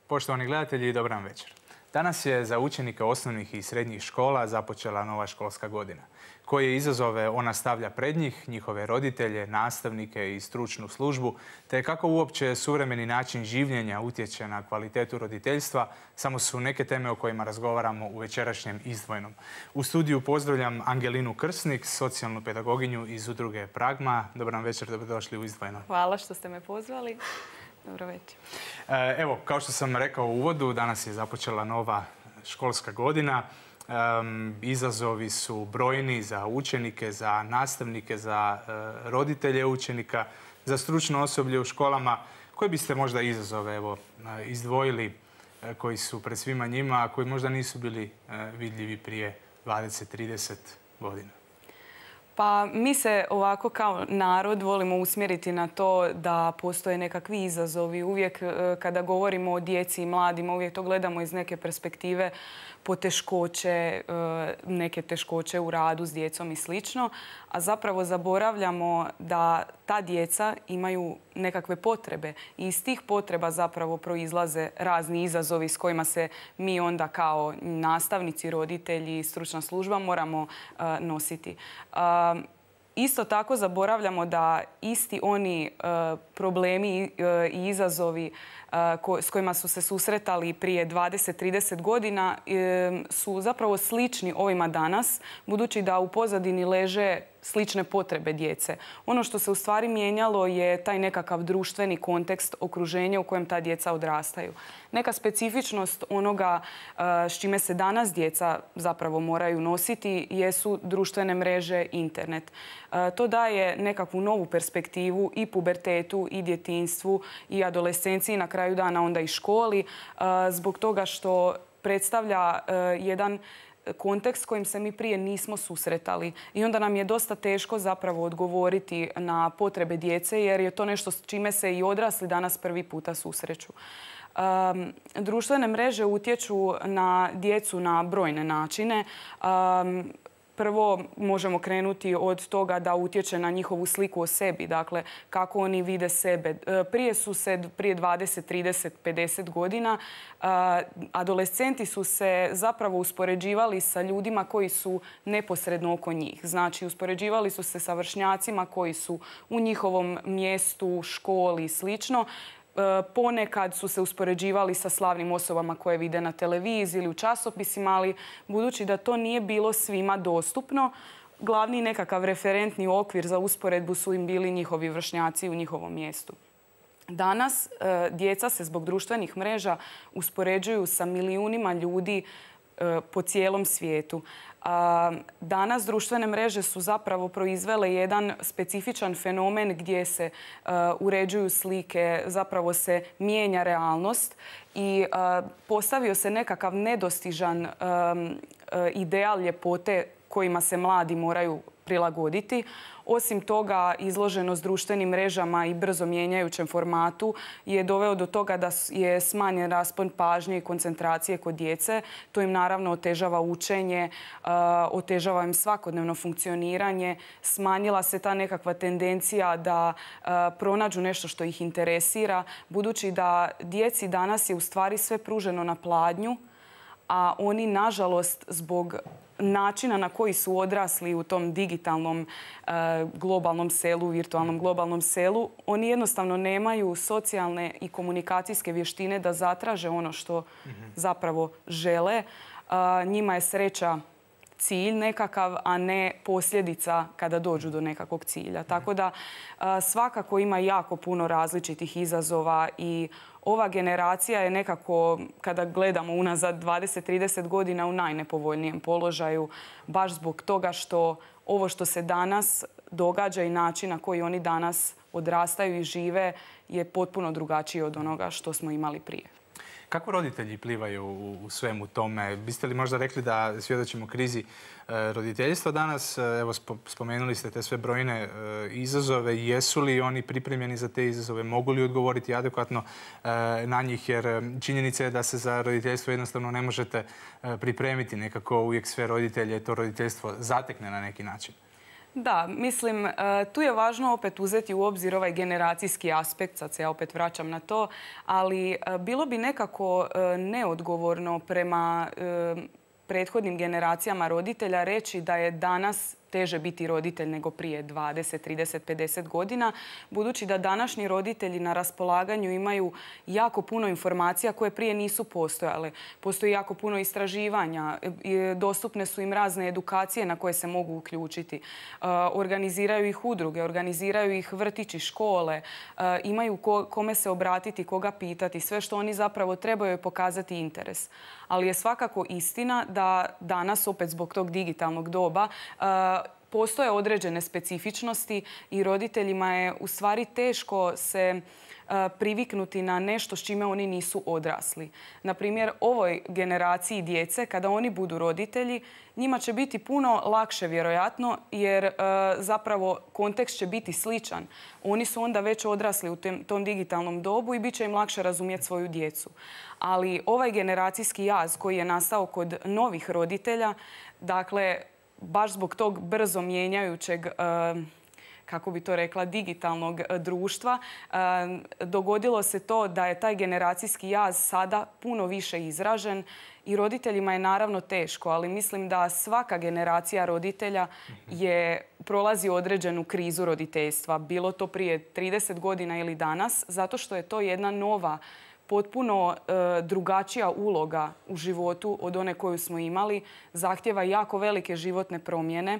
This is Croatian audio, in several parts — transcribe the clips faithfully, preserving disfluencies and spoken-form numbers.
Poštovani gledatelji, dobar vam večer. Danas je za učenike osnovnih i srednjih škola započela nova školska godina. Koje izazove ona stavlja pred njih, njihove roditelje, nastavnike i stručnu službu, te kako uopće suvremeni način življenja utječe na kvalitetu roditeljstva, samo su neke teme o kojima razgovaramo u večerašnjem Izdvojenom. U studiju pozdravljam Angelinu Krsnik, socijalnu pedagoginju iz udruge Pragma. Dobar vam večer, dobrodošli u Izdvojeno. Hvala što ste me pozvali. Dobro večer. Evo, kao što sam rekao u uvodu, danas je započela nova školska godina. Um, izazovi su brojni za učenike, za nastavnike, za uh, roditelje učenika, za stručno osoblje u školama. Koji biste možda izazove evo, uh, izdvojili uh, koji su pred svima njima, a koji možda nisu bili uh, vidljivi prije dvadeset do trideset godina? Pa mi se ovako kao narod volimo usmjeriti na to da postoje nekakvi izazovi. Uvijek kada govorimo o djeci i mladima, uvijek to gledamo iz neke perspektive poteškoće, neke teškoće u radu s djecom i slično, a zapravo zaboravljamo da ta djeca imaju nekakve potrebe i iz tih potreba zapravo proizlaze razni izazovi s kojima se mi onda kao nastavnici, roditelji i stručna služba moramo nositi. Isto tako zaboravljamo da isti oni problemi i izazovi s kojima su se susretali prije dvadeset do trideset godina su zapravo slični ovima danas, budući da u pozadini leže slične potrebe djece. Ono što se u stvari mijenjalo je taj nekakav društveni kontekst, okruženja u kojem ta djeca odrastaju. Neka specifičnost onoga s čime se danas djeca zapravo moraju nositi jesu društvene mreže, internet. To daje nekakvu novu perspektivu i pubertetu, i djetinjstvu, i adolescenciji, na kraju dana onda i školi, zbog toga što predstavlja jedan kontekst s kojim se mi prije nismo susretali. I onda nam je dosta teško zapravo odgovoriti na potrebe djece, jer je to nešto s čime se i odrasli danas prvi puta susreću. Um, društvene mreže utječu na djecu na brojne načine. Um, Prvo možemo krenuti od toga da utječe na njihovu sliku o sebi, dakle kako oni vide sebe. Prije su se, prije dvadeset, trideset, pedeset godina, adolescenti su se zapravo uspoređivali sa ljudima koji su neposredno oko njih. Znači, uspoređivali su se sa vršnjacima koji su u njihovom mjestu, školi i slično. Ponekad su se uspoređivali sa slavnim osobama koje vide na televiziji ili u časopisima, ali budući da to nije bilo svima dostupno, glavni nekakav referentni okvir za usporedbu su im bili njihovi vršnjaci u njihovom mjestu. Danas djeca se zbog društvenih mreža uspoređuju sa milijunima ljudi po cijelom svijetu. Danas društvene mreže su zapravo proizvele jedan specifičan fenomen gdje se uređuju slike, zapravo se mijenja realnost i postavio se nekakav nedostižan ideal ljepote kojima se mladi moraju prilagoditi. Osim toga, izloženost društvenim mrežama i brzo mijenjajućem formatu je doveo do toga da je smanjen raspon pažnje i koncentracije kod djece. To im naravno otežava učenje, otežava im svakodnevno funkcioniranje. Smanjila se ta nekakva tendencija da pronađu nešto što ih interesira, budući da djeci danas je u stvari sve pruženo na pladnju, a oni, nažalost, zbog načina na koji su odrasli u tom digitalnom globalnom selu, virtualnom globalnom selu, oni jednostavno nemaju socijalne i komunikacijske vještine da zatraže ono što zapravo žele. Njima je sreća cilj nekakav, a ne posljedica kada dođu do nekakvog cilja. Tako da svakako ima jako puno različitih izazova i ova generacija je nekako, kada gledamo unazad dvadeset do trideset godina, u najnepovoljnijem položaju, baš zbog toga što ovo što se danas događa i način na koji oni danas odrastaju i žive je potpuno drugačiji od onoga što smo imali prije. Kako roditelji plivaju u svemu tome? Biste li možda rekli da svjedočimo krizi roditeljstva danas? Evo, spomenuli ste te sve brojne izazove. Jesu li oni pripremljeni za te izazove? Mogu li odgovoriti adekvatno na njih? Jer činjenica je da se za roditeljstvo jednostavno ne možete pripremiti. Nekako uvijek sve roditelje to roditeljstvo zatekne na neki način. Da, mislim, tu je važno opet uzeti u obzir ovaj generacijski aspekt, sad se ja opet vraćam na to, ali bilo bi nekako neodgovorno prema prethodnim generacijama roditelja reći da je danas teže biti roditelj nego prije dvadeset, trideset, pedeset godina, budući da današnji roditelji na raspolaganju imaju jako puno informacija koje prije nisu postojale. Postoji jako puno istraživanja, dostupne su im razne edukacije na koje se mogu uključiti. Organiziraju ih udruge, organiziraju ih vrtići, škole, imaju kome se obratiti, koga pitati. Sve što oni zapravo trebaju je pokazati interes. Ali je svakako istina da danas, opet zbog tog digitalnog doba, postoje određene specifičnosti i roditeljima je u stvari teško se priviknuti na nešto s čime oni nisu odrasli. Na primjer, ovoj generaciji djece, kada oni budu roditelji, njima će biti puno lakše vjerojatno jer zapravo kontekst će biti sličan. Oni su onda već odrasli u tom digitalnom dobu i bit će im lakše razumjeti svoju djecu. Ali ovaj generacijski jaz koji je nastao kod novih roditelja, dakle, baš zbog tog brzo mijenjajućeg, kako bi to rekla, digitalnog društva, dogodilo se to da je taj generacijski jaz sada puno više izražen i roditeljima je naravno teško, ali mislim da svaka generacija roditelja je prolazi određenu krizu roditeljstva. Bilo to prije trideset godina ili danas, zato što je to jedna nova, potpuno e, drugačija uloga u životu od one koju smo imali. Zahtjeva jako velike životne promjene. E,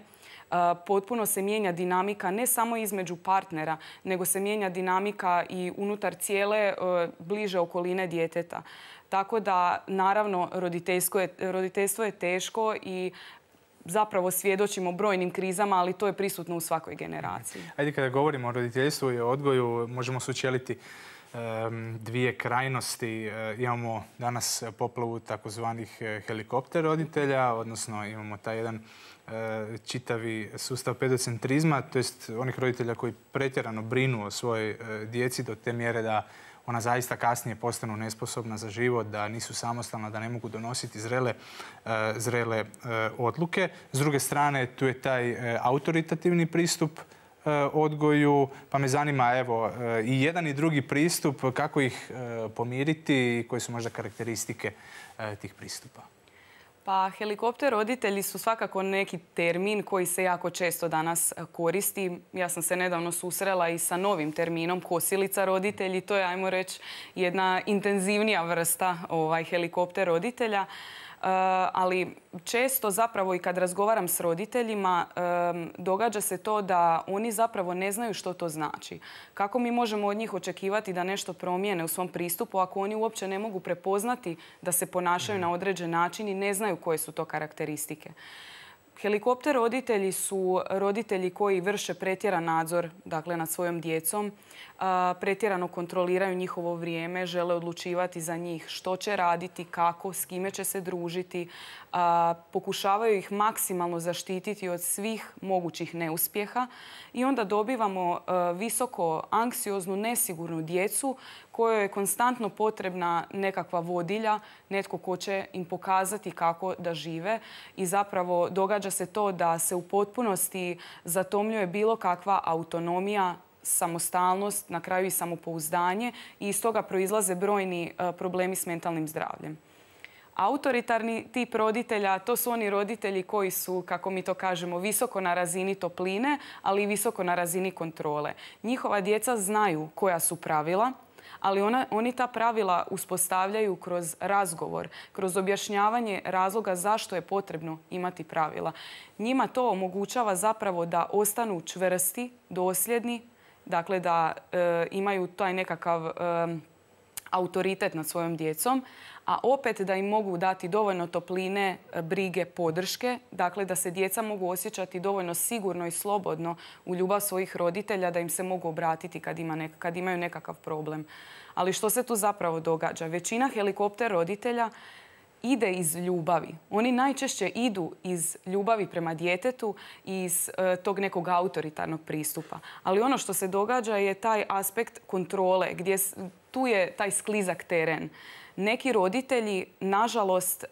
potpuno se mijenja dinamika ne samo između partnera, nego se mijenja dinamika i unutar cijele e, bliže okoline djeteta. Tako da, naravno, roditeljstvo je, roditeljstvo je teško i zapravo svjedočimo brojnim krizama, ali to je prisutno u svakoj generaciji. Ajde, kada govorimo o roditeljstvu i o odgoju, možemo sučeliti dvije krajnosti. Imamo danas poplavu takozvanih helikopter roditelja, odnosno imamo taj jedan čitavi sustav pedocentrizma, to jest onih roditelja koji pretjerano brinu o svojoj djeci do te mjere da ona zaista kasnije postanu nesposobna za život, da nisu samostalna, da ne mogu donositi zrele, zrele odluke. S druge strane, tu je taj autoritativni pristup odgoju, pa me zanima evo i jedan i drugi pristup, kako ih pomiriti i koje su možda karakteristike tih pristupa. Pa helikopter roditelji su svakako neki termin koji se jako često danas koristi. Ja sam se nedavno susrela i sa novim terminom kosilica roditelji. To je, ajmo reći, jedna intenzivnija vrsta ovaj, helikopter roditelja. Ali često zapravo i kad razgovaram s roditeljima događa se to da oni zapravo ne znaju što to znači. Kako mi možemo od njih očekivati da nešto promijene u svom pristupu ako oni uopće ne mogu prepoznati da se ponašaju na određen način i ne znaju koje su to karakteristike. Helikopter roditelji su roditelji koji vrše pretjeran nadzor, dakle, nad svojom djecom, pretjerano kontroliraju njihovo vrijeme, žele odlučivati za njih što će raditi, kako, s kime će se družiti, pokušavaju ih maksimalno zaštititi od svih mogućih neuspjeha i onda dobivamo visoko anksioznu, nesigurnu djecu kojoj je konstantno potrebna nekakva vodilja, netko ko će im pokazati kako da žive i zapravo događa se to da se u potpunosti zatomljuje bilo kakva autonomija, samostalnost, na kraju i samopouzdanje i iz toga proizlaze brojni problemi s mentalnim zdravljem. Autoritarni tip roditelja, to su oni roditelji koji su, kako mi to kažemo, visoko na razini topline, ali i visoko na razini kontrole. Njihova djeca znaju koja su pravila, ali ona, oni ta pravila uspostavljaju kroz razgovor, kroz objašnjavanje razloga zašto je potrebno imati pravila. Njima to omogućava zapravo da ostanu čvrsti, dosljedni, dakle da e, imaju taj nekakav e, autoritet nad svojom djecom, a opet da im mogu dati dovoljno topline, brige, podrške, dakle da se djeca mogu osjećati dovoljno sigurno i slobodno u ljubav svojih roditelja, da im se mogu obratiti kad, ima nek- kad imaju nekakav problem. Ali što se tu zapravo događa? Većina helikopter roditelja ide iz ljubavi. Oni najčešće idu iz ljubavi prema djetetu i iz e, tog nekog autoritarnog pristupa. Ali ono što se događa je taj aspekt kontrole, gdje tu je taj sklizak teren. Neki roditelji, nažalost,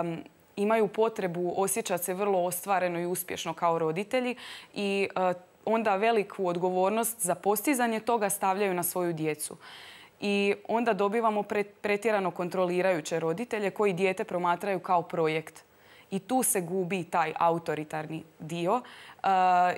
um, imaju potrebu osjećati se vrlo ostvareno i uspješno kao roditelji i onda veliku odgovornost za postizanje toga stavljaju na svoju djecu. I onda dobivamo pretjerano kontrolirajuće roditelje koji dijete promatraju kao projekt. I tu se gubi taj autoritarni dio uh,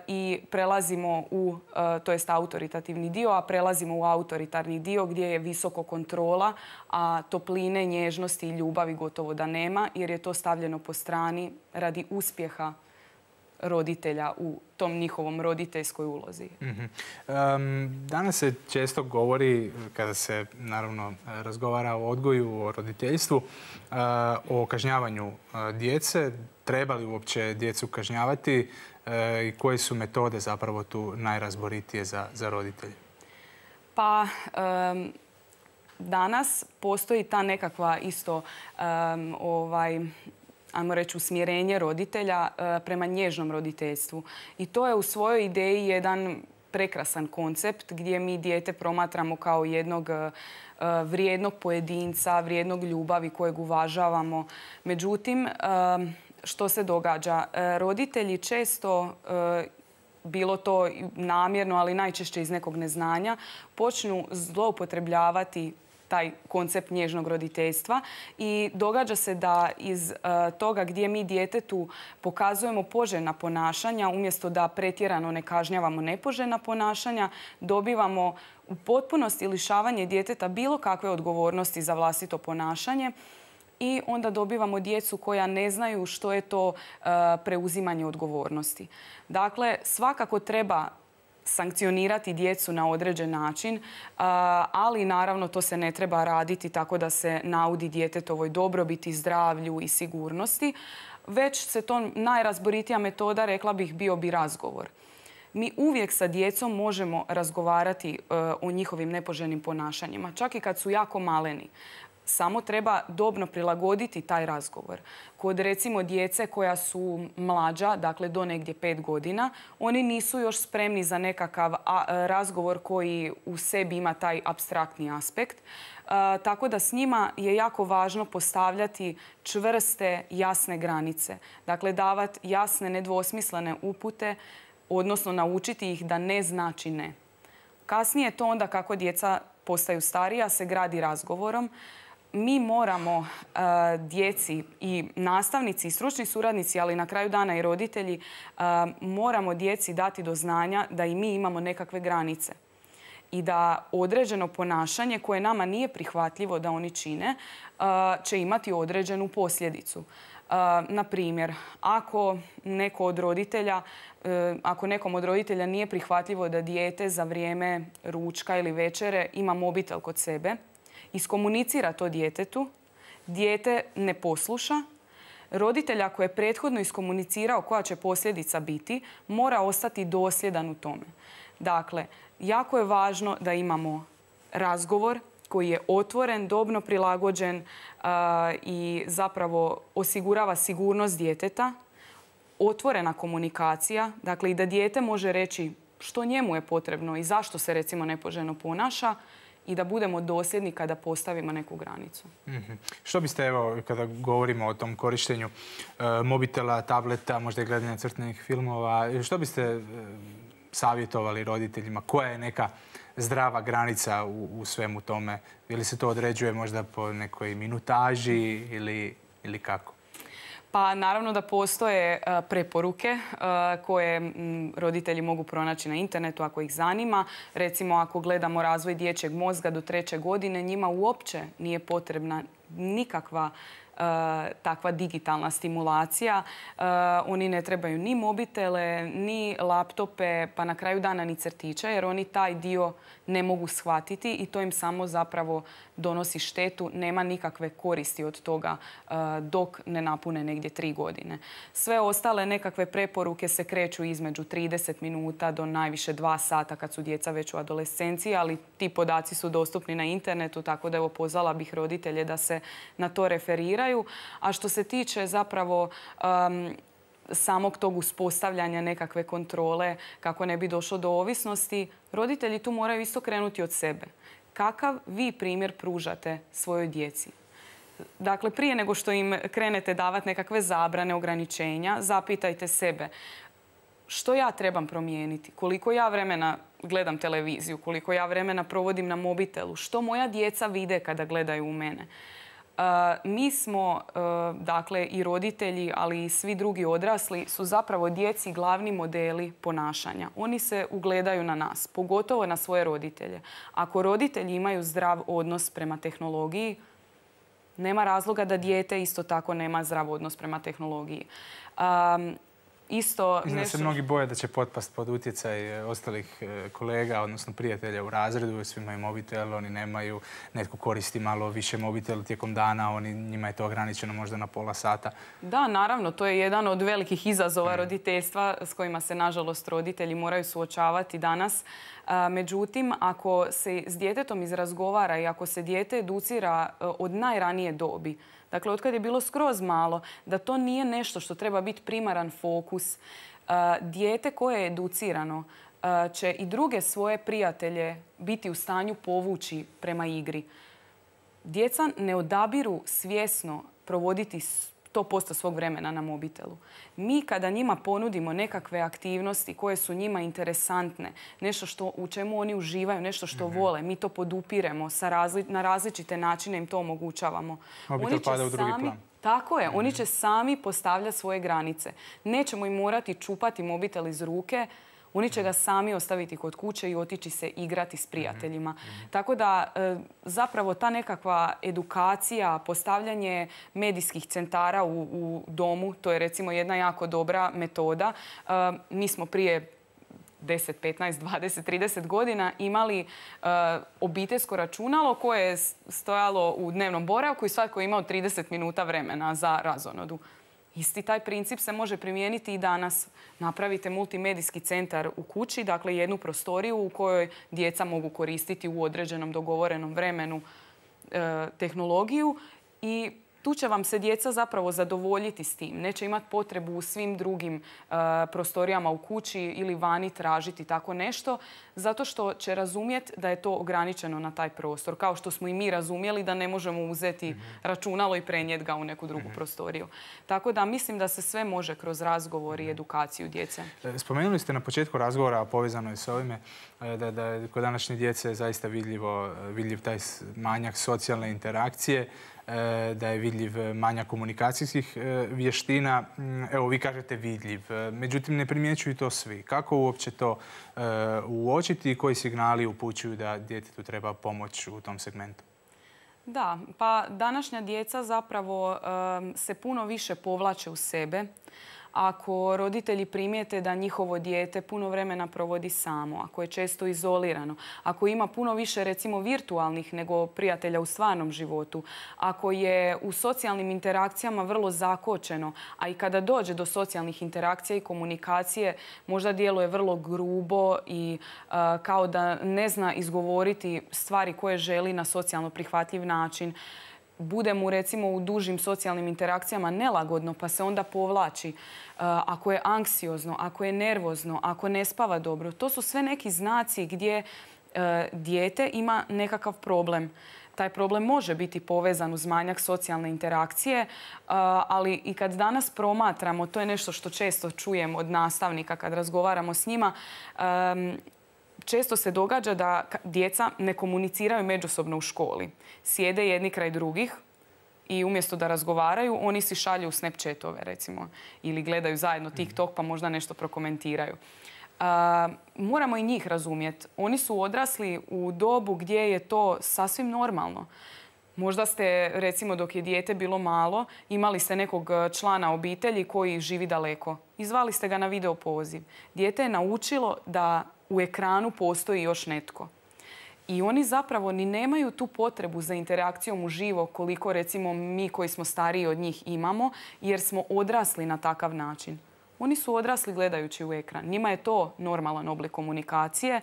i prelazimo u, uh, to jest autoritativni dio, a prelazimo u autoritarni dio gdje je visoko kontrola, a topline, nježnosti i ljubavi gotovo da nema, jer je to stavljeno po strani radi uspjeha roditelja u tom njihovom roditeljskoj ulozi. Mm-hmm. um, danas se često govori, kada se naravno razgovara o odgoju, o roditeljstvu, uh, o kažnjavanju uh, djece. Treba li uopće djecu kažnjavati uh, i koje su metode zapravo tu najrazboritije za, za roditelje? Pa um, danas postoji ta nekakva isto um, ovaj, ajmo reći, usmjerenje roditelja prema nježnom roditeljstvu. I to je u svojoj ideji jedan prekrasan koncept gdje mi dijete promatramo kao jednog vrijednog pojedinca, vrijednog ljubavi kojeg uvažavamo. Međutim, što se događa? Roditelji često, bilo to namjerno, ali najčešće iz nekog neznanja, počnu zloupotrebljavati taj koncept nježnog roditeljstva i događa se da iz uh, toga gdje mi djetetu pokazujemo poželjna ponašanja, umjesto da pretjerano ne kažnjavamo nepoželjna ponašanja, dobivamo u potpunosti lišavanje djeteta bilo kakve odgovornosti za vlastito ponašanje i onda dobivamo djecu koja ne znaju što je to uh, preuzimanje odgovornosti. Dakle, svakako treba sankcionirati djecu na određen način, ali naravno to se ne treba raditi tako da se naudi djetetovoj dobrobiti, zdravlju i sigurnosti, već se to najrazboritija metoda, rekla bih, bio bi razgovor. Mi uvijek sa djecom možemo razgovarati o njihovim nepoželjnim ponašanjima, čak i kad su jako maleni. Samo treba dobno prilagoditi taj razgovor. Kod recimo djece koja su mlađa, dakle do negdje pet godina, oni nisu još spremni za nekakav razgovor koji u sebi ima taj apstraktni aspekt. A, tako da s njima je jako važno postavljati čvrste, jasne granice. Dakle, davati jasne, nedvosmislene upute, odnosno naučiti ih da ne znači ne. Kasnije to onda kako djeca postaju starija se gradi razgovorom. Mi moramo uh, djeci i nastavnici i stručni suradnici, ali na kraju dana i roditelji, uh, moramo djeci dati do znanja da i mi imamo nekakve granice i da određeno ponašanje koje nama nije prihvatljivo da oni čine uh, će imati određenu posljedicu. Uh, na primjer, ako neko od roditelja, uh, ako nekom od roditelja nije prihvatljivo da dijete za vrijeme ručka ili večere ima mobitel kod sebe, iskomunicira to djetetu, dijete ne posluša, roditelj ako je prethodno iskomunicirao koja će posljedica biti, mora ostati dosljedan u tome. Dakle, jako je važno da imamo razgovor koji je otvoren, dobno prilagođen uh, i zapravo osigurava sigurnost djeteta, otvorena komunikacija, dakle i da dijete može reći što njemu je potrebno i zašto se recimo nepoželjno ponaša, i da budemo dosljedni kada postavimo neku granicu. Mm-hmm. Što biste, evo, kada govorimo o tom korištenju e, mobitela, tableta, možda i gledanja crtanih filmova, što biste e, savjetovali roditeljima? Koja je neka zdrava granica u, u svemu tome? Ili se to određuje možda po nekoj minutaži ili, ili kako? Pa naravno da postoje preporuke koje roditelji mogu pronaći na internetu ako ih zanima. Recimo ako gledamo razvoj dječjeg mozga do treće godine, njima uopće nije potrebna nikakva takva digitalna stimulacija. Oni ne trebaju ni mobitele, ni laptope, pa na kraju dana ni crtiće, jer oni taj dio ne mogu shvatiti i to im samo zapravo donosi štetu. Nema nikakve koristi od toga dok ne napune negdje tri godine. Sve ostale nekakve preporuke se kreću između trideset minuta do najviše dva sata kad su djeca već u adolescenciji, ali ti podaci su dostupni na internetu, tako da evo pozvala bih roditelje da se na to referiraju. A što se tiče zapravo um, samog tog uspostavljanja nekakve kontrole kako ne bi došlo do ovisnosti, roditelji tu moraju isto krenuti od sebe. Kakav vi primjer pružate svojoj djeci? Dakle, prije nego što im krenete davati nekakve zabrane, ograničenja, zapitajte sebe što ja trebam promijeniti, koliko ja vremena gledam televiziju, koliko ja vremena provodim na mobitelu, što moja djeca vide kada gledaju u mene. Uh, mi smo, uh, dakle, i roditelji, ali i svi drugi odrasli su zapravo djeci glavni modeli ponašanja. Oni se ugledaju na nas, pogotovo na svoje roditelje. Ako roditelji imaju zdrav odnos prema tehnologiji, nema razloga da dijete isto tako nema zdrav odnos prema tehnologiji. Um, Isto Mislim da se mnogi boje da će potpast pod utjecaj ostalih kolega, odnosno prijatelja u razredu. Svi imaju mobitel, oni nemaju. Netko koristi malo više mobitel tijekom dana, oni, njima je to ograničeno možda na pola sata. Da, naravno, to je jedan od velikih izazova roditeljstva s kojima se, nažalost, roditelji moraju suočavati danas. Međutim, ako se s djetetom izrazgovara i ako se dijete educira od najranije dobi, dakle, od kad je bilo skroz malo, da to nije nešto što treba biti primaran fokus. Dijete koje je educirano će i druge svoje prijatelje biti u stanju povući prema igri. Djeca ne odabiru svjesno provoditi sto posto svog vremena na mobitelu. Mi kada njima ponudimo nekakve aktivnosti koje su njima interesantne, nešto što, u čemu oni uživaju, nešto što mm-hmm. vole, mi to podupiremo, sa razli, na različite načine im to omogućavamo. Mobitel pada u drugi sami, plan. Tako je, mm-hmm. oni će sami postavljati svoje granice. Nećemo im morati čupati mobitel iz ruke, oni će ga sami ostaviti kod kuće i otići se igrati s prijateljima. Mm-hmm. Tako da zapravo ta nekakva edukacija, postavljanje medijskih centara u, u domu, to je recimo jedna jako dobra metoda. Mi smo prije deset, petnaest, dvadeset, trideset godina imali uh, obiteljsko računalo koje je stojalo u dnevnom boravku i svatko je imao trideset minuta vremena za razonodu. Isti taj princip se može primijeniti i danas. Napravite multimedijski centar u kući, dakle jednu prostoriju u kojoj djeca mogu koristiti u određenom dogovorenom vremenu e, tehnologiju i tu će vam se djeca zapravo zadovoljiti s tim. Neće imati potrebu u svim drugim uh, prostorijama u kući ili vani tražiti tako nešto, zato što će razumjeti da je to ograničeno na taj prostor. Kao što smo i mi razumjeli da ne možemo uzeti mm-hmm. računalo i prenijeti ga u neku drugu mm-hmm. prostoriju. Tako da mislim da se sve može kroz razgovor i edukaciju djece. Spomenuli ste na početku razgovora, a povezano je s ovime, da, da kod današnje djece zaista vidljivo, vidljiv taj manjak socijalne interakcije, da je vidljiv manjak komunikacijskih vještina. Evo, vi kažete vidljiv. Međutim, ne primjećuju to svi. Kako uopće to uočiti i koji signali upućuju da djetetu treba pomoć u tom segmentu? Da, pa današnja djeca zapravo se puno više povlače u sebe. Ako roditelji primijete da njihovo dijete puno vremena provodi samo, ako je često izolirano, ako ima puno više recimo virtualnih nego prijatelja u stvarnom životu, ako je u socijalnim interakcijama vrlo zakočeno, a i kada dođe do socijalnih interakcija i komunikacije možda djeluje vrlo grubo i uh, kao da ne zna izgovoriti stvari koje želi na socijalno prihvatljiv način, bude mu recimo u dužim socijalnim interakcijama nelagodno pa se onda povlači, uh, ako je anksiozno, ako je nervozno, ako ne spava dobro. To su sve neki znaci gdje uh, dijete ima nekakav problem. Taj problem može biti povezan uz manjak socijalne interakcije, uh, ali i kad danas promatramo, to je nešto što često čujem od nastavnika kad razgovaramo s njima, um, često se događa da djeca ne komuniciraju međusobno u školi. Sjede jedni kraj drugih i umjesto da razgovaraju, oni si šalju Snapchatove, recimo, ili gledaju zajedno TikTok pa možda nešto prokomentiraju. Uh, moramo i njih razumjeti. Oni su odrasli u dobu gdje je to sasvim normalno. Možda ste, recimo, dok je dijete bilo malo, imali ste nekog člana obitelji koji živi daleko. I zvali ste ga na video poziv. Dijete je naučilo da u ekranu postoji još netko. I oni zapravo ni nemaju tu potrebu za interakcijom uživo koliko, recimo, mi koji smo stariji od njih imamo, jer smo odrasli na takav način. Oni su odrasli gledajući u ekran. Njima je to normalan oblik komunikacije.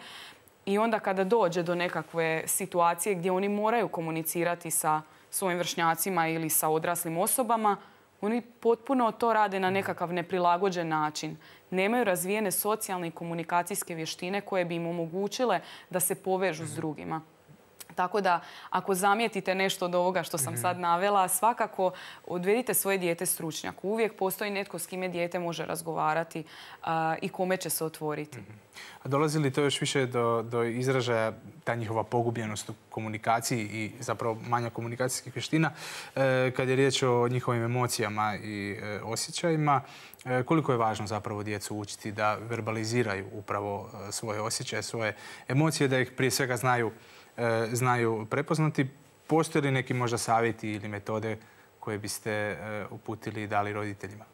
I onda kada dođe do nekakve situacije gdje oni moraju komunicirati sa svojim vršnjacima ili sa odraslim osobama, oni potpuno to rade na nekakav neprilagođen način. Nemaju razvijene socijalne i komunikacijske vještine koje bi im omogućile da se povežu s drugima. Tako da, ako zamijetite nešto od ovoga što sam sad navela, svakako odvedite svoje dijete stručnjaku. Uvijek postoji netko s kime dijete može razgovarati a, i kome će se otvoriti. A dolazi li to još više do, do izražaja ta njihova pogubljenost u komunikaciji i zapravo manja komunikacijskih vještina e, kad je riječ o njihovim emocijama i e, osjećajima? E, koliko je važno zapravo djecu učiti da verbaliziraju upravo e, svoje osjećaje, svoje emocije, da ih prije svega znaju znaju prepoznati. Postoje li neki možda savjeti ili metode koje biste uputili i dali roditeljima?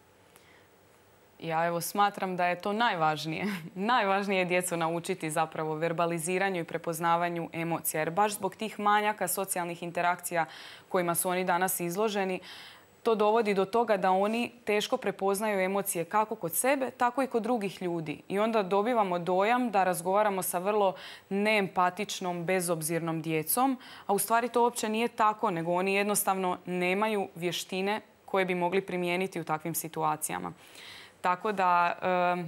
Ja evo smatram da je to najvažnije. Najvažnije je djecu naučiti zapravo verbaliziranju i prepoznavanju emocija. Jer baš zbog tih manjaka socijalnih interakcija kojima su oni danas izloženi, to dovodi do toga da oni teško prepoznaju emocije kako kod sebe, tako i kod drugih ljudi. I onda dobivamo dojam da razgovaramo sa vrlo neempatičnom, bezobzirnom djecom, a u stvari to uopće nije tako, nego oni jednostavno nemaju vještine koje bi mogli primijeniti u takvim situacijama. Tako da e,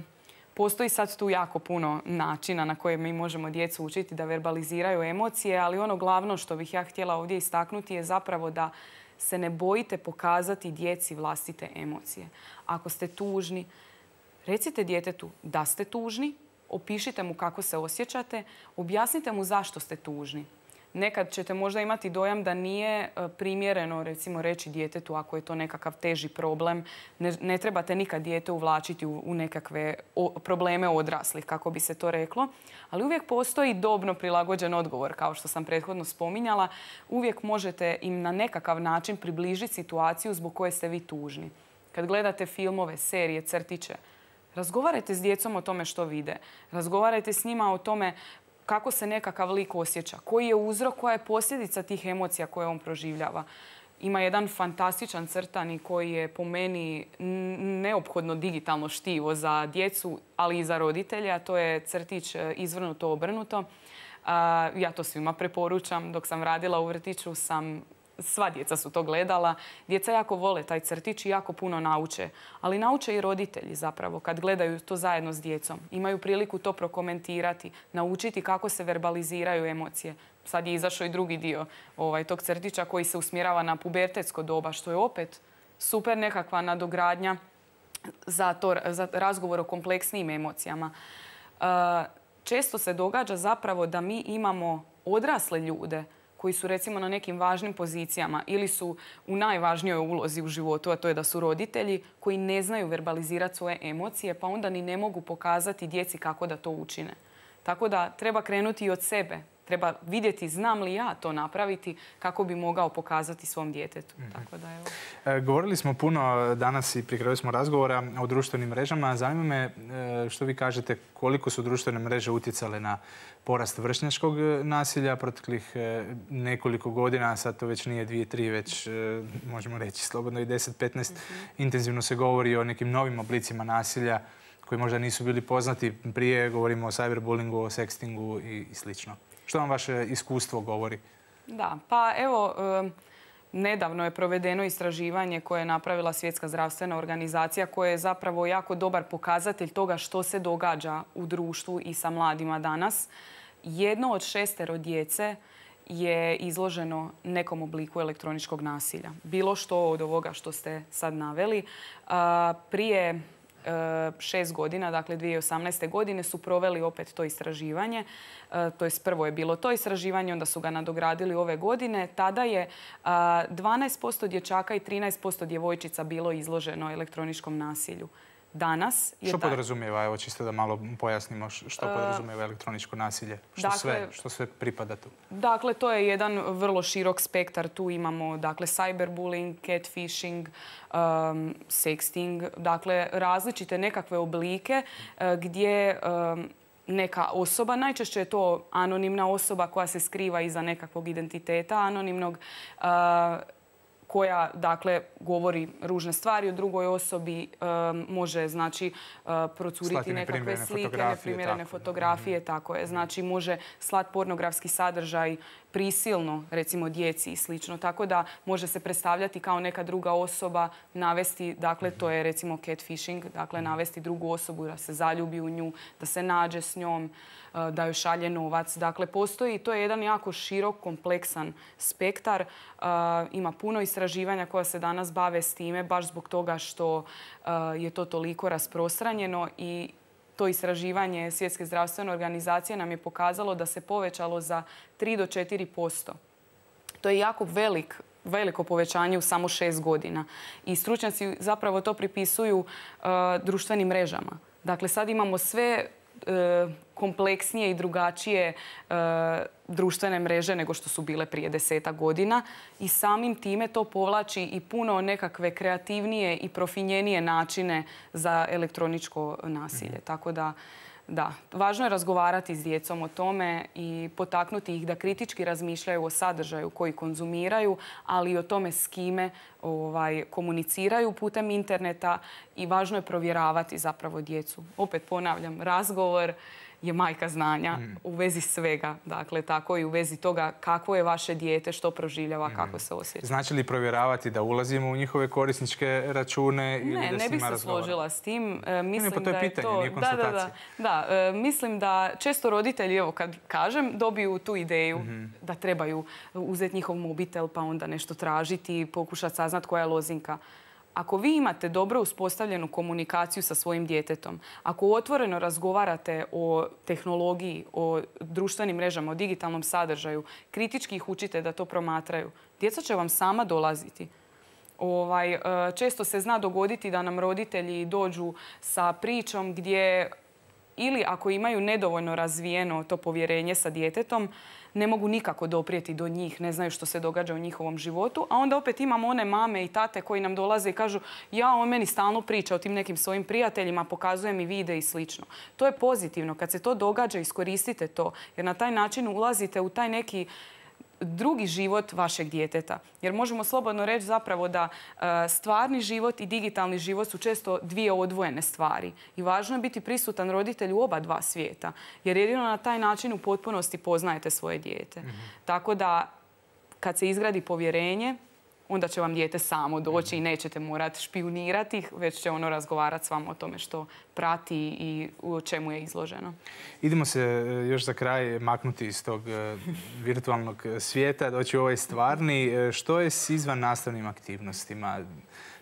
postoji sad tu jako puno načina na koje mi možemo djecu učiti da verbaliziraju emocije, ali ono glavno što bih ja htjela ovdje istaknuti je zapravo da se ne bojite pokazati djeci vlastite emocije. Ako ste tužni, recite djetetu da ste tužni, opišite mu kako se osjećate, objasnite mu zašto ste tužni. Nekad ćete možda imati dojam da nije primjereno, recimo, reći djetetu ako je to nekakav teži problem. Ne, ne trebate nikad dijete uvlačiti u, u nekakve o, probleme odraslih, kako bi se to reklo. Ali uvijek postoji dobno prilagođen odgovor, kao što sam prethodno spominjala. Uvijek možete im na nekakav način približiti situaciju zbog koje ste vi tužni. Kad gledate filmove, serije, crtiće, razgovarajte s djecom o tome što vide. Razgovarajte s njima o tome kako se nekakav lik osjeća, koji je uzrok, koja je posljedica tih emocija koje on proživljava. Ima jedan fantastičan crtani koji je po meni neophodno digitalno štivo za djecu, ali i za roditelje, a to je crtić Izvrnuto obrnuto. Ja to svima preporučam. Dok sam radila u vrtiću sam... Sva djeca su to gledala. Djeca jako vole taj crtić i jako puno nauče. Ali nauče i roditelji zapravo kad gledaju to zajedno s djecom. Imaju priliku to prokomentirati, naučiti kako se verbaliziraju emocije. Sad je izašao i drugi dio ovaj, tog crtića koji se usmjerava na pubertetsko doba, što je opet super nekakva nadogradnja za, to, za razgovor o kompleksnijim emocijama. Uh, često se događa zapravo da mi imamo odrasle ljude koji su recimo na nekim važnim pozicijama ili su u najvažnijoj ulozi u životu, a to je da su roditelji koji ne znaju verbalizirati svoje emocije, pa onda ni ne mogu pokazati djeci kako da to učine. Tako da treba krenuti i od sebe. Treba vidjeti znam li ja to napraviti kako bi mogao pokazati svom djetetu. Mm-hmm. Tako da, evo. E, govorili smo puno danas i pri kraju smo razgovora o društvenim mrežama. Zanima me e, što vi kažete koliko su društvene mreže utjecale na porast vršnjačkog nasilja proteklih e, nekoliko godina. Sad to već nije dvije, tri, već e, možemo reći slobodno i deset, petnaest. Mm-hmm. Intenzivno se govori o nekim novim oblicima nasilja koji možda nisu bili poznati prije. Govorimo o cyberbullingu, o sextingu i, i slično. Što vam vaše iskustvo govori? Da, pa evo, nedavno je provedeno istraživanje koje je napravila Svjetska zdravstvena organizacija koje je zapravo jako dobar pokazatelj toga što se događa u društvu i sa mladima danas. Jedno od šestero djece je izloženo nekom obliku elektroničkog nasilja. Bilo što od ovoga što ste sad naveli. Prije šest godina, dakle dvije tisuće osamnaeste. godine, su proveli opet to istraživanje. To jest prvo je bilo to istraživanje, onda su ga nadogradili ove godine. Tada je dvanaest posto dječaka i trinaest posto djevojčica bilo izloženo elektroničkom nasilju. Danas je što podrazumijeva, evo čisto da malo pojasnimo što podrazumijeva elektroničko nasilje? Što, dakle, sve, što sve pripada tu? Dakle, to je jedan vrlo širok spektar. Tu imamo dakle, cyberbullying, catfishing, um, sexting, dakle različite nekakve oblike uh, gdje um, neka osoba, najčešće je to anonimna osoba koja se skriva iza nekakvog identiteta anonimnog, uh, koja, dakle, govori ružne stvari o drugoj osobi, um, može, znači, uh, procuriti nekakve slike, neprimjerene fotografije, tako je. Znači, može slat pornografski sadržaj prisilno, recimo djeci i slično. Tako da može se predstavljati kao neka druga osoba, navesti, dakle to je recimo catfishing, dakle navesti drugu osobu da se zaljubi u nju, da se nađe s njom, da joj šalje novac. Dakle, postoji, to je jedan jako širok, kompleksan spektar. Ima puno istraživanja koja se danas bave s time, baš zbog toga što je to toliko rasprostranjeno i to istraživanje Svjetske zdravstvene organizacije nam je pokazalo da se povećalo za tri do četiri posto. To je jako velik, veliko povećanje u samo šest godina. I stručnjaci zapravo to pripisuju uh, društvenim mrežama. Dakle, sad imamo sve uh, kompleksnije i drugačije uh, društvene mreže nego što su bile prije desetak godina i samim time to povlači i puno nekakve kreativnije i profinjenije načine za elektroničko nasilje. Mm-hmm. Tako da, da, važno je razgovarati s djecom o tome i potaknuti ih da kritički razmišljaju o sadržaju koji konzumiraju, ali i o tome s kime ovaj, komuniciraju putem interneta i važno je provjeravati zapravo djecu. Opet ponavljam, razgovor je majka znanja mm. u vezi svega. Dakle, tako i u vezi toga kako je vaše dijete, što proživljava, mm. kako se osjeća. Znači li provjeravati da ulazimo u njihove korisničke račune ili ne, da s njima razgovaramo? Ne, ne bih se složila s tim. E, mislim ne, pa to je da pitanje, je to... nije konstatacija. Da, da, da. E, mislim da često roditelji, evo kad kažem, dobiju tu ideju mm-hmm. da trebaju uzeti njihov mobitel pa onda nešto tražiti, pokušati saznat koja je lozinka. Ako vi imate dobro uspostavljenu komunikaciju sa svojim djetetom, ako otvoreno razgovarate o tehnologiji, o društvenim mrežama, o digitalnom sadržaju, kritički ih učite da to promatraju, djeca će vam sama dolaziti. Ovaj, često se zna dogoditi da nam roditelji dođu sa pričom gdje ili ako imaju nedovoljno razvijeno to povjerenje sa djetetom, ne mogu nikako doprijeti do njih, ne znaju što se događa u njihovom životu. A onda opet imamo one mame i tate koji nam dolaze i kažu ja, on meni stalno priča o tim nekim svojim prijateljima, pokazuje mi vide i slično. To je pozitivno. Kad se to događa, iskoristite to. Jer na taj način ulazite u taj neki drugi život vašeg djeteta. Jer možemo slobodno reći zapravo da uh, stvarni život i digitalni život su često dvije odvojene stvari. I važno je biti prisutan roditelj u oba dva svijeta. Jer jedino na taj način u potpunosti poznajete svoje dijete. Mm-hmm. Tako da kad se izgradi povjerenje, onda će vam dijete samo doći i nećete morati špijunirati ih, već će ono razgovarati s vama o tome što prati i u čemu je izloženo. Idemo se još za kraj maknuti iz tog virtualnog svijeta, doći u ovaj stvarni. Što je s izvan nastavnim aktivnostima?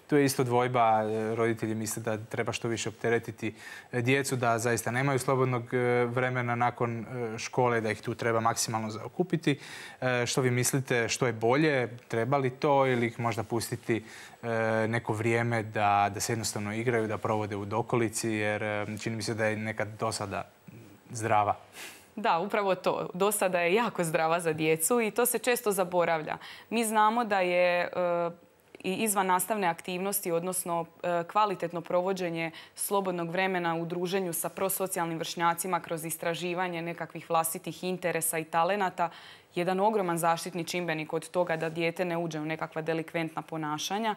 Tu je isto dvojba, roditelji misle da treba što više opteretiti djecu, da zaista nemaju slobodnog vremena nakon škole, da ih tu treba maksimalno zaokupiti. Što vi mislite, što je bolje, treba li to ili ih možda pustiti neko vrijeme da, da se jednostavno igraju, da provode u dokolici, jer čini mi se da je nekad dosada zdrava. Da, upravo to. Dosada je jako zdrava za djecu i to se često zaboravlja. Mi znamo da je i izvan nastavne aktivnosti, odnosno kvalitetno provođenje slobodnog vremena u druženju sa prosocijalnim vršnjacima kroz istraživanje nekakvih vlastitih interesa i talenata, jedan ogroman zaštitni čimbenik od toga da dijete ne uđe u nekakva delikventna ponašanja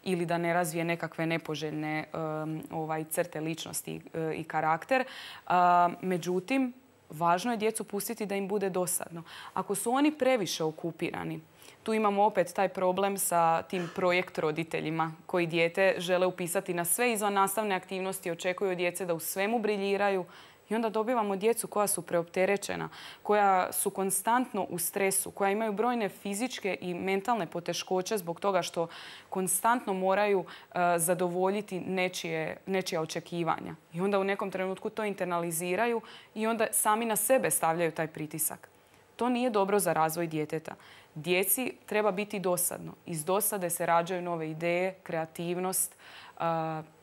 ili da ne razvije nekakve nepoželjne um, ovaj, crte ličnosti uh, i karakter. Uh, međutim, važno je djecu pustiti da im bude dosadno. Ako su oni previše okupirani, tu imamo opet taj problem sa tim projekt roditeljima koji dijete žele upisati na sve izvan nastavne aktivnosti, očekuju od djece da u svemu briljiraju i onda dobivamo djecu koja su preopterećena, koja su konstantno u stresu, koja imaju brojne fizičke i mentalne poteškoće zbog toga što konstantno moraju uh, zadovoljiti nečije, nečija očekivanja. I onda u nekom trenutku to internaliziraju i onda sami na sebe stavljaju taj pritisak. To nije dobro za razvoj djeteta. Djeci treba biti dosadno. Iz dosade se rađaju nove ideje, kreativnost, uh,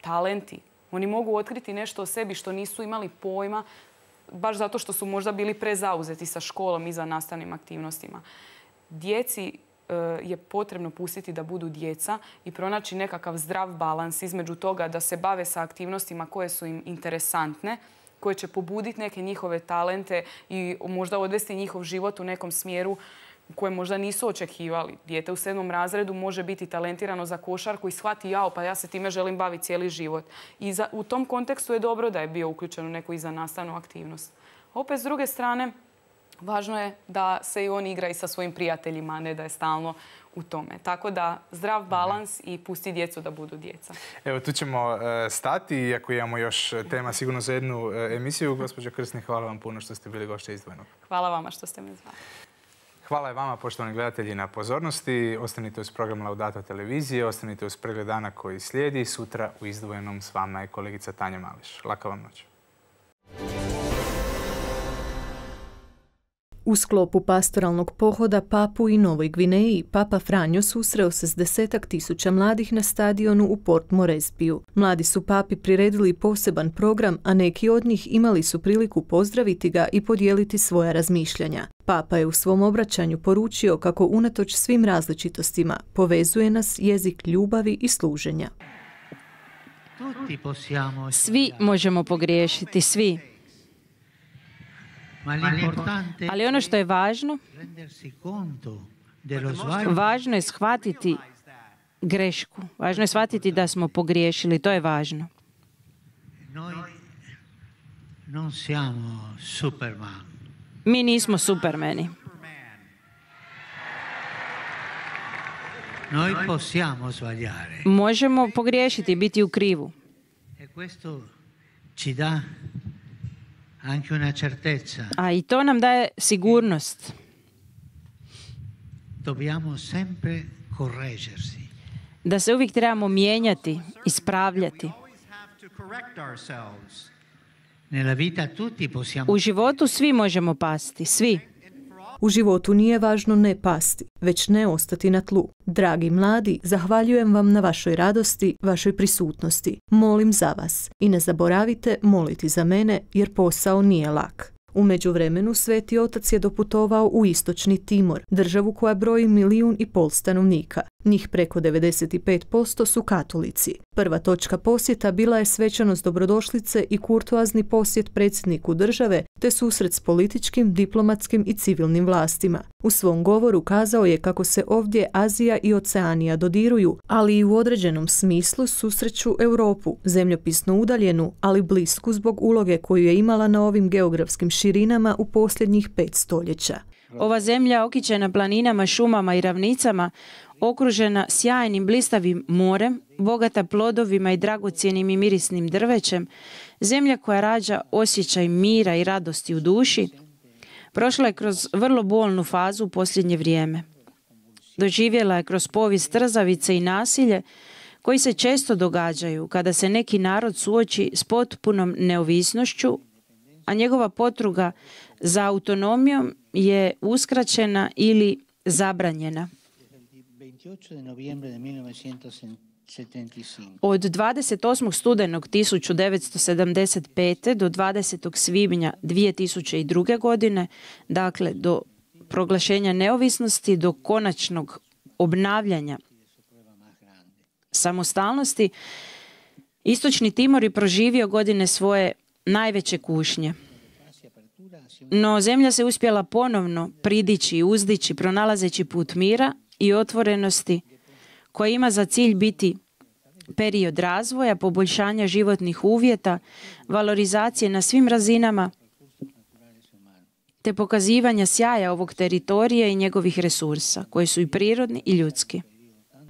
talenti. Oni mogu otkriti nešto o sebi što nisu imali pojma, baš zato što su možda bili prezauzeti sa školom i za nastavnim aktivnostima. Djeci uh, je potrebno pustiti da budu djeca i pronaći nekakav zdrav balans između toga da se bave sa aktivnostima koje su im interesantne, koje će pobuditi neke njihove talente i možda odvesti njihov život u nekom smjeru koje možda nisu očekivali. Dijete u sedmom razredu može biti talentirano za košarku i shvati jao, pa ja se time želim baviti cijeli život. I za, u tom kontekstu je dobro da je bio uključen u neku izvannastavnu aktivnost. Opet, s druge strane, važno je da se i on igra i sa svojim prijateljima, a ne da je stalno u tome. Tako da zdrav balans i pusti djecu da budu djeca. Evo, tu ćemo stati, iako imamo još tema sigurno za jednu emisiju. Gospođo Krsni, hvala vam puno što ste bili gošće Izdvojenog. Hvala vama što ste me zvali. Hvala i vama, poštovani gledatelji, na pozornosti. Ostanite uz program Laudato televizije, ostanite uz pregled dana koji slijedi. Sutra u Izdvojenom s vama je kolegica Tanja Mališ. Laka vam noć. U sklopu pastoralnog pohoda Papu i Novoj Gvineji, Papa Franjo susreo se s desetak tisuća mladih na stadionu u Port Moresbiju. Mladi su Papi priredili poseban program, a neki od njih imali su priliku pozdraviti ga i podijeliti svoja razmišljanja. Papa je u svom obraćanju poručio kako unatoč svim različitostima povezuje nas jezik ljubavi i služenja. Svi možemo pogriješiti, svi. Ali ono što je važno, važno je shvatiti grešku. Važno je shvatiti da smo pogriješili. To je važno. Mi nismo supermeni. Možemo pogriješiti i biti u krivu. A i to nam daje sigurnost. Da se uvijek trebamo mijenjati, ispravljati. U životu svi možemo pasti, svi. U životu nije važno ne pasti, već ne ostati na tlu. Dragi mladi, zahvaljujem vam na vašoj radosti, vašoj prisutnosti. Molim za vas i ne zaboravite moliti za mene jer posao nije lak. U međuvremenu Sveti Otac je doputovao u istočni Timor, državu koja broji milijun i pol stanovnika. Njih preko devedeset pet posto su katolici. Prva točka posjeta bila je svečanost dobrodošlice i kurtoazni posjet predsjedniku države, te susret s političkim, diplomatskim i civilnim vlastima. U svom govoru kazao je kako se ovdje Azija i Oceanija dodiruju, ali i u određenom smislu susreću Europu, zemljopisno udaljenu, ali blisku zbog uloge koju je imala na ovim geografskim širinama u posljednjih pet stoljeća. Ova zemlja okićena planinama, šumama i ravnicama, okružena sjajnim blistavim morem, bogata plodovima i dragocjenim i mirisnim drvećem, zemlja koja rađa osjećaj mira i radosti u duši, prošla je kroz vrlo bolnu fazu u posljednje vrijeme. Doživjela je kroz povijest trzavice i nasilje koji se često događaju kada se neki narod suoči s potpunom neovisnošću, a njegova potruga za autonomijom je uskraćena ili zabranjena. Od dvadeset osmog studenog tisuću devetsto sedamdeset pete do dvadesetog svibnja dvije tisuće druge. godine, dakle do proglašenja neovisnosti, do konačnog obnavljanja samostalnosti, Istočni Timor je proživio godine svoje najveće kušnje. No zemlja se uspjela ponovno pridići i uzdići, pronalazeći put mira i otvorenosti koja ima za cilj biti period razvoja, poboljšanja životnih uvjeta, valorizacije na svim razinama, te pokazivanja sjaja ovog teritorija i njegovih resursa, koji su i prirodni i ljudski.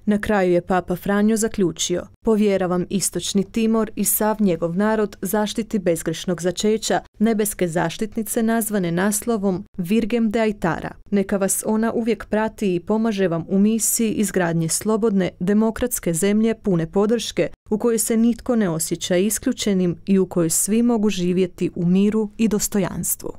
Na kraju je Papa Franjo zaključio: povjeravam Istočni Timor i sav njegov narod zaštiti bezgrešnog začeća, nebeske zaštitnice nazvane naslovom Virgem de Aitara. Neka vas ona uvijek prati i pomaže vam u misiji izgradnje slobodne, demokratske zemlje pune podrške, u kojoj se nitko ne osjeća isključenim i u kojoj svi mogu živjeti u miru i dostojanstvu.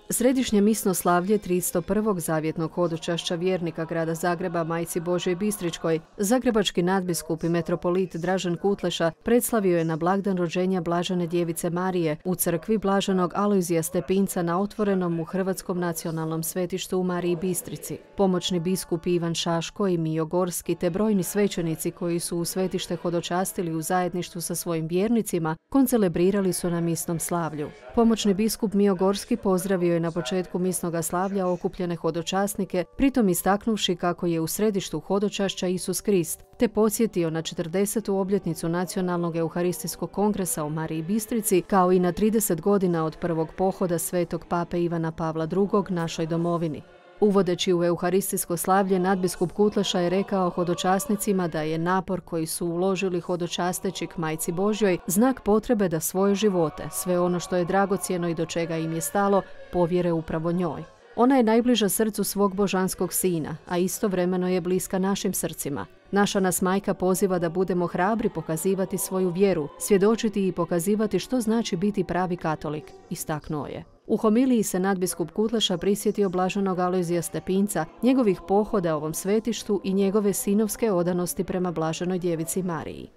Središnje misno slavlje tristo prvog zavjetnog hodočašća vjernika grada Zagreba Majci Božoj Bistričkoj, zagrebački nadbiskup i metropolit Dražen Kutleša predslavio je na blagdan rođenja Blažene djevice Marije u crkvi Blaženog Alojzija Stepinca na otvorenom u Hrvatskom nacionalnom svetištu u Mariji Bistrici. Pomoćni biskup Ivan Šaško i Mijo Gorski te brojni svećenici koji su u svetište hodočastili u zajedništvu sa svojim vjernicima koncelebrirali su na misnom slavlju. Pomoćni biskup Mijo Gorski pozdravio je na početku misnoga slavlja okupljene hodočasnike, pritom istaknuvši kako je u središtu hodočašća Isus Krist, te podsjetio na četrdesetu obljetnicu Nacionalnog euharistijskog kongresa u Mariji Bistrici, kao i na trideset godina od prvog pohoda svetog pape Ivana Pavla drugog našoj domovini. Uvodeći u euharistijsko slavlje, nadbiskup Kutleša je rekao hodočasnicima da je napor koji su uložili hodočasteći k Majci Božjoj znak potrebe da svoje živote, sve ono što je dragocjeno i do čega im je stalo, povjere upravo njoj. Ona je najbliža srcu svog božanskog sina, a istovremeno je bliska našim srcima. Naša nas majka poziva da budemo hrabri pokazivati svoju vjeru, svjedočiti i pokazivati što znači biti pravi katolik, istaknuo je. U homiliji se nadbiskup Kutleša prisjetio blaženog Alojzija Stepinca, njegovih pohoda ovom svetištu i njegove sinovske odanosti prema blaženoj djevici Mariji.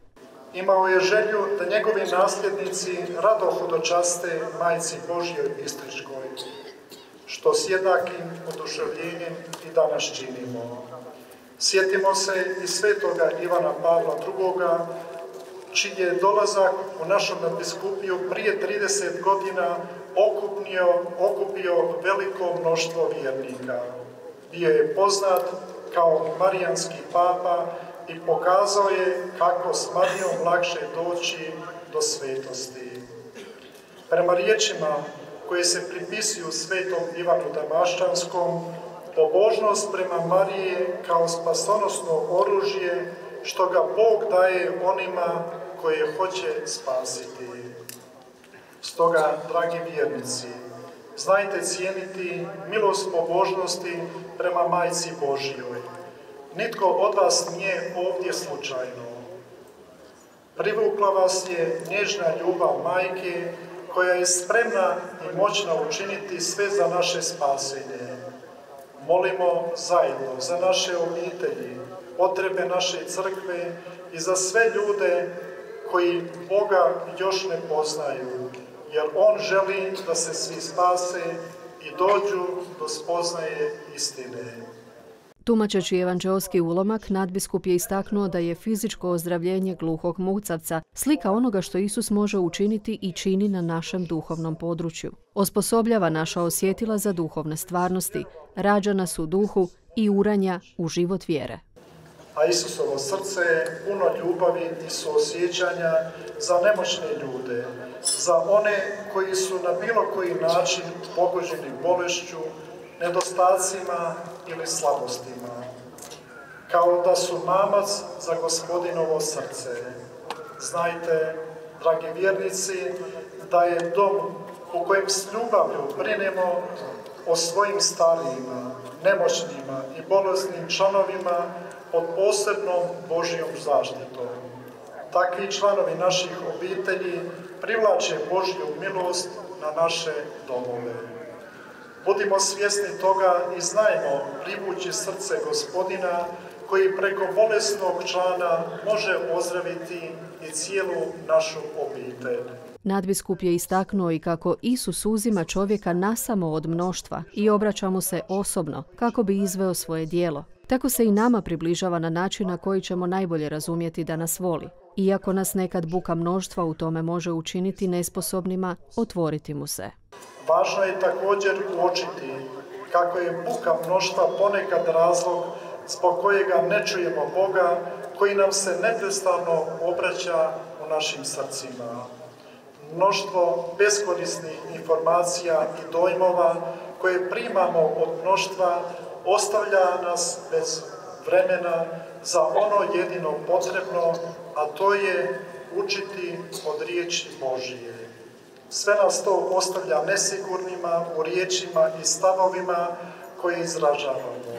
Imao je želju da njegovi nasljednici rado hodočaste Majci Božjoj Bistričkoj, što s jednakim oduševljenjem i danas činimo. Sjetimo se i svetoga Ivana Pavla drugoga, čiji je dolazak u našu nadbiskupiju prije trideset godina okupio, okupio veliko mnoštvo vjernika. Bio je poznat kao marijanski papa i pokazao je kako s Marijom lakše doći do svetosti. Prema riječima koje se pripisuju svetom Ivanu Damaščanskom, pobožnost prema Marije kao spasonosno oružje što ga Bog daje onima koje hoće spasiti. Stoga, dragi vjernici, znajte cijeniti milost pobožnosti prema Majci Božjoj. Nitko od vas nije ovdje slučajno. Privukla vas je nježna ljubav majke koja je spremna i moćna učiniti sve za naše spasenje. Molimo zajedno za naše obitelji, potrebe naše crkve i za sve ljude koji Boga još ne poznaju, jer On želi da se svi spase i dođu do spoznaje istine. Tumačeći evanđeoski ulomak, nadbiskup je istaknuo da je fizičko ozdravljenje gluhog mucavca slika onoga što Isus može učiniti i čini na našem duhovnom području. Osposobljava naša osjetila za duhovne stvarnosti, rađa nas u duhu i uranja u život vjere. A Isusovo srce je puno ljubavi i suosjećanja za nemoćne ljude, za one koji su na bilo koji način pogođeni bolešću, nedostacima ili slabostima, kao da su mamac za Gospodinovo srce. Znajte, dragi vjernici, da je dom u kojem s ljubavlju brinemo o svojim starijima, nemoćnima i bolesnim članovima pod posebnom Božjom zaštitom. Takvi članovi naših obitelji privlače Božju milost na naše domove. Budimo svjesni toga i znajmo privući srce Gospodina koji preko bolesnog člana može ozdraviti i cijelu našu obitelj. Nadbiskup je istaknuo i kako Isus uzima čovjeka nasamo od mnoštva i obraća mu se osobno kako bi izveo svoje djelo. Tako se i nama približava na način na koji ćemo najbolje razumjeti da nas voli. Iako nas nekad buka mnoštva u tome može učiniti nesposobnima, otvoriti mu se. Važno je također uočiti kako je buka mnoštva ponekad razlog zbog kojega ne čujemo Boga, koji nam se neprestano obraća u našim srcima. Mnoštvo beskorisnih informacija i dojmova koje primamo od mnoštva ostavlja nas bez vremena za ono jedino potrebno, a to je učiti od riječi Božije. Sve nas to ostavlja nesigurnima u riječima i stavovima koje izražavamo.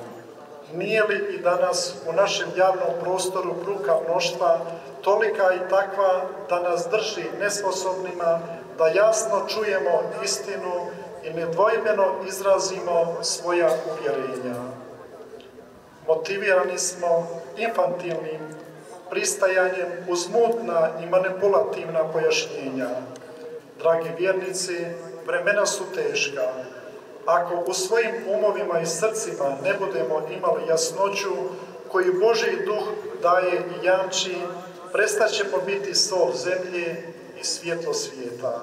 Nije li i danas u našem javnom prostoru bruka mnoštva tolika i takva da nas drži nesposobnima da jasno čujemo istinu i nedvojbeno izrazimo svoja uvjerenja? Motivirani smo infantilnim pristajanjem uz mutna i manipulativna pojašnjenja. Dragi vjernici, vremena su teška. Ako u svojim umovima i srcima ne budemo imali jasnoću koju Božji duh daje i jamči, prestat ćemo biti sol zemlje i svjetlo svijeta.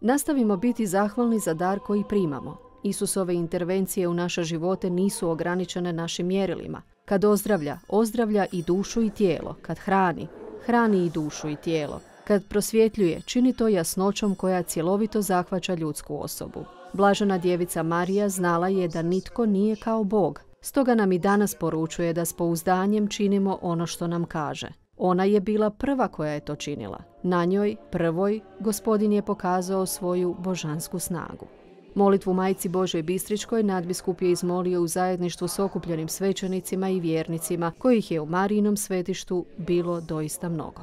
Nastavimo biti zahvalni za dar koji primamo. Isusove intervencije u naše živote nisu ograničene našim mjerilima. Kad ozdravlja, ozdravlja i dušu i tijelo. Kad hrani, hrani i dušu i tijelo. Kad prosvjetljuje, čini to jasnoćom koja cjelovito zahvaća ljudsku osobu. Blažena djevica Marija znala je da nitko nije kao Bog. Stoga nam i danas poručuje da s pouzdanjem činimo ono što nam kaže. Ona je bila prva koja je to činila. Na njoj, prvoj, Gospodin je pokazao svoju božansku snagu. Molitvu Majci Božjoj Bistričkoj nadbiskup je izmolio u zajedništvu s okupljenim svećenicima i vjernicima, kojih je u Marijinom svetištu bilo doista mnogo.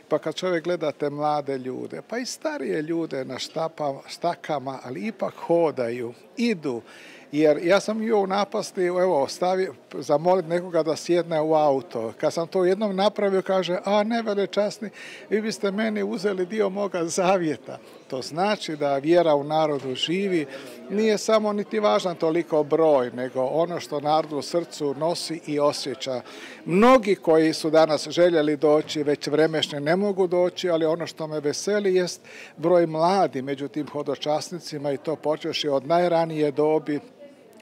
Pa kad čovjek gleda te mlade ljude, pa i starije ljude na štapa, štakama, ali ipak hodaju, idu. Jer ja sam bio u napasti, evo, stavi, zamoliti nekoga da sjedne u auto. Kad sam to jednom napravio, kaže, a ne velečasni, vi biste meni uzeli dio moga zavjeta. To znači da vjera u narodu živi. Nije samo niti važan toliko broj, nego ono što narod u srcu nosi i osjeća. Mnogi koji su danas željeli doći, već vremešne ne mogu doći, ali ono što me veseli jest broj mladi među tim hodočasnicima i to počeši od najranije dobi,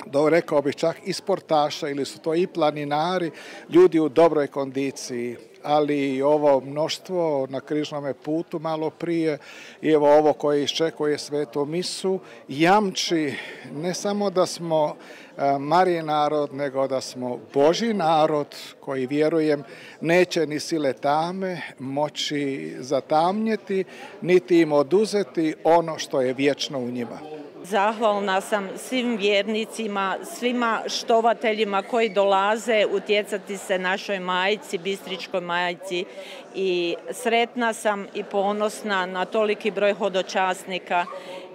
do, rekao bih čak i sportaša, ili su to i planinari, ljudi u dobroj kondiciji, ali i ovo mnoštvo na križnome putu malo prije i evo ovo koje iščekuje svetu misu, jamči ne samo da smo Marijin narod, nego da smo Božji narod koji, vjerujem, neće ni sile tame moći zatamnjeti, niti im oduzeti ono što je vječno u njima. Zahvalna sam svim vjernicima, svima štovateljima koji dolaze utjecati se našoj majci, Bistričkoj majci, i sretna sam i ponosna na toliki broj hodočasnika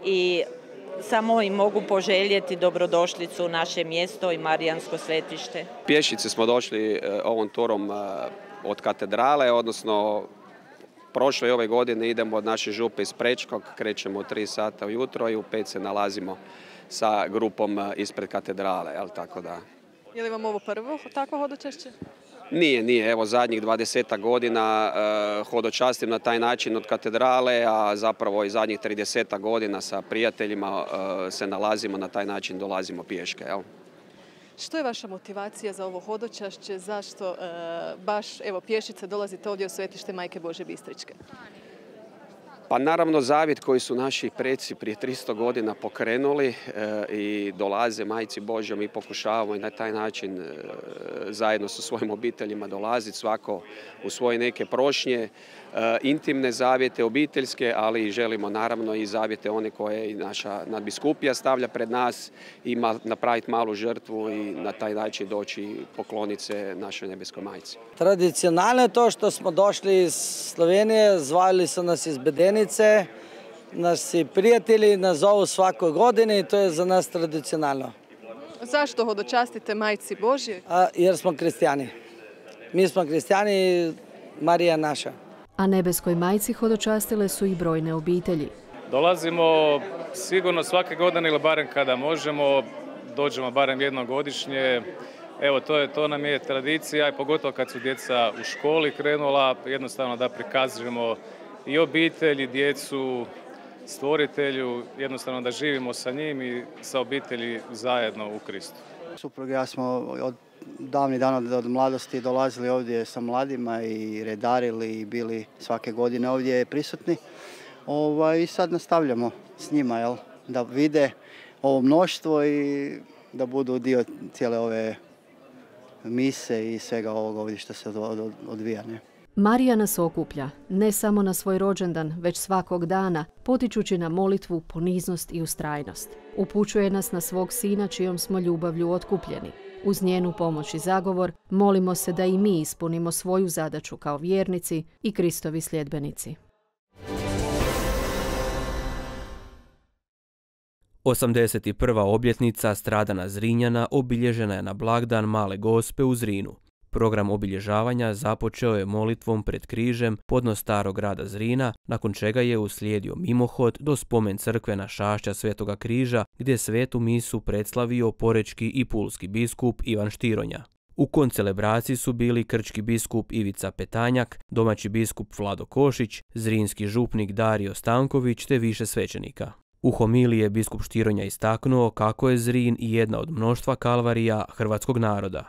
i samo im mogu poželjeti dobrodošlicu u naše mjesto i Marijansko svetište. Pješice smo došli ovom turom od katedrale, odnosno prošle i ove godine idemo od naše župe iz Prečkog, krećemo u tri sata ujutro i u pet se nalazimo sa grupom ispred katedrale, jel, tako da. Je li vam ovo prvo takvo hodočašće? Nije, nije. Evo zadnjih dvadesetak godina uh, hodočastim na taj način od katedrale, a zapravo i zadnjih tridesetak godina sa prijateljima uh, se nalazimo na taj način, dolazimo pješke, jel? Što je vaša motivacija za ovo hodočašće? Zašto uh, baš evo, pješice dolazite ovdje u svetište Majke Božje Bistričke? Pa naravno zavjet koji su naši preci prije tristo godina pokrenuli e, i dolaze Majci Božjoj, mi pokušavamo i na taj način e, zajedno sa svojim obiteljima dolaziti svako u svoje neke prošnje, e, intimne zavjete, obiteljske, ali želimo naravno i zavjete one koje i naša nadbiskupija stavlja pred nas i ma, napraviti malu žrtvu i na taj način doći pokloniti se našoj nebeskoj majci. Tradicionalno je to što smo došli iz Slovenije, zvali su nas iz Bedenice. Naši prijatelji nas zovu svakoj godini i to je za nas tradicionalno. Zašto hodočastite Majci Božje? A, jer smo kristijani. Mi smo kristijani, Marija naša. A nebeskoj majci hodočastile su i brojne obitelji. Dolazimo sigurno svake godine ili barem kada možemo, dođemo barem jednom godišnje. Evo, to, je, to nam je tradicija i pogotovo kad su djeca u školi krenula, jednostavno da prikazujemo i obitelji, djecu, stvoritelju, jednostavno da živimo sa njim i sa obitelji zajedno u Kristu. Suprug i ja smo od davnih dana, od mladosti dolazili ovdje sa mladima i redarili i bili svake godine ovdje prisutni. Ovaj, I sad nastavljamo s njima, jel, da vide ovo mnoštvo i da budu dio cijele ove mise i svega ovoga ovdje što se odvija. Ne? Marija nas okuplja, ne samo na svoj rođendan, već svakog dana, potičući na molitvu, poniznost i ustrajnost. Upućuje nas na svog sina čijom smo ljubavlju otkupljeni. Uz njenu pomoć i zagovor molimo se da i mi ispunimo svoju zadaću kao vjernici i Kristovi sljedbenici. osamdeset prva obljetnica stradana Zrinjana obilježena je na blagdan Male Gospe u Zrinu. Program obilježavanja započeo je molitvom pred križem podno starog grada Zrina, nakon čega je uslijedio mimohod do spomen crkve na Šašća Svetoga križa, gdje svetu misu predslavio porečki i pulski biskup Ivan Štironja. U koncelebraciji su bili krčki biskup Ivica Petanjak, domaći biskup Vlado Košić, zrinski župnik Dario Stanković te više svećenika. U homiliji je biskup Štironja istaknuo kako je Zrin i jedna od mnoštva kalvarija hrvatskog naroda.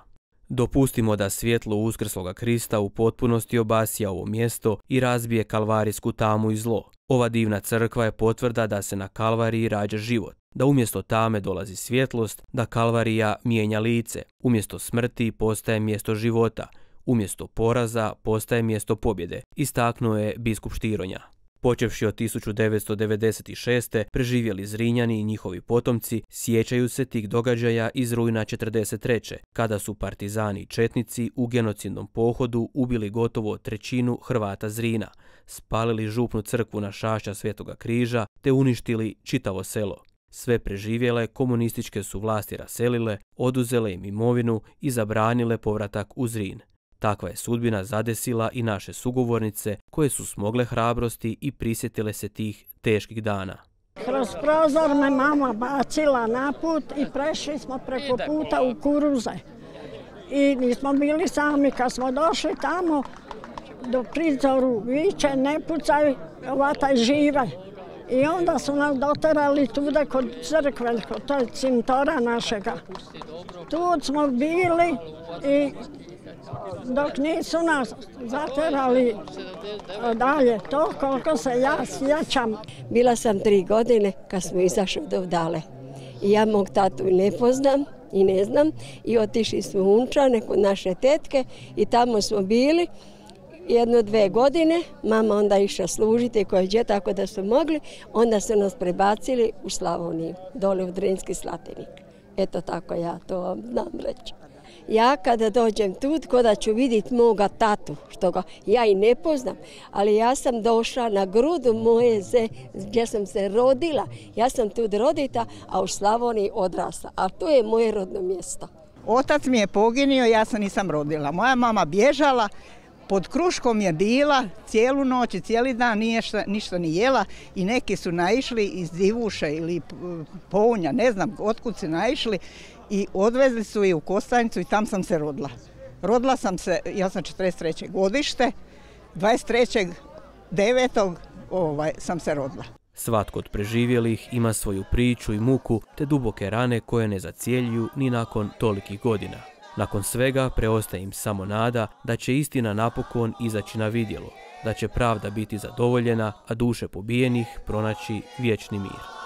Dopustimo da svjetlo uskrsloga Krista u potpunosti obasja ovo mjesto i razbije kalvarijsku tamu i zlo. Ova divna crkva je potvrda da se na Kalvariji rađa život, da umjesto tame dolazi svjetlost, da Kalvarija mijenja lice, umjesto smrti postaje mjesto života, umjesto poraza postaje mjesto pobjede, istaknuo je biskup Štironja. Počevši od tisuću devetsto devedeset šeste. preživjeli Zrinjani i njihovi potomci sjećaju se tih događaja iz rujna četrdeset treće. kada su partizani i četnici u genocidnom pohodu ubili gotovo trećinu Hrvata Zrina, spalili župnu crkvu na Šašća Svetoga križa te uništili čitavo selo. Sve preživjele komunističke su vlasti raselile, oduzele im imovinu i zabranile povratak u Zrin. Takva je sudbina zadesila i naše sugovornice koje su smogle hrabrosti i prisjetile se tih teških dana. Kroz prozor me mama bacila na put i prešli smo preko puta u kuruze. I nismo bili sami, kad smo došli tamo do prizoru viče ne pucaj, ovataj žive. I onda su nas doterali tuda kod crkve, kod toj cintora našega. Tu smo bili i dok nisu nas zaterali dalje, to koliko se ja sjećam. Bila sam tri godine kad smo izašli do Vdale. I ja mog tatu ne poznam i ne znam. I otišli smo u Unčane kod naše tetke i tamo smo bili jedno, dve godine. Mama onda išla služiti koje dje, tako da su mogli. Onda su nas prebacili u Slavoniju, dole u Drinski Slatinik. Eto tako ja to vam znam reći. Ja kada dođem tu, kada ću vidjeti moga tatu, što ga ja i ne poznam, ali ja sam došla na grudu moje ze, gdje sam se rodila. Ja sam tu rodita, a u Slavoniji odrasla, a to je moje rodno mjesto. Otac mi je poginio, ja se nisam rodila. Moja mama bježala, pod kruškom je bila cijelu noć i cijeli dan nije šta, ništa ni jela i neki su naišli iz Divuša ili Pounja, ne znam otkud su naišli i odvezli su je u Kostajnicu i tam sam se rodila. Rodila sam se, ja sam četrdeset treće godište, dvadeset trećeg devetog ovaj, sam se rodila. Svatko od preživjelih ima svoju priču i muku te duboke rane koje ne zacijeljuju ni nakon tolikih godina. Nakon svega preostaje im samo nada da će istina napokon izaći na vidjelo, da će pravda biti zadovoljena, a duše pobijenih pronaći vječni mir.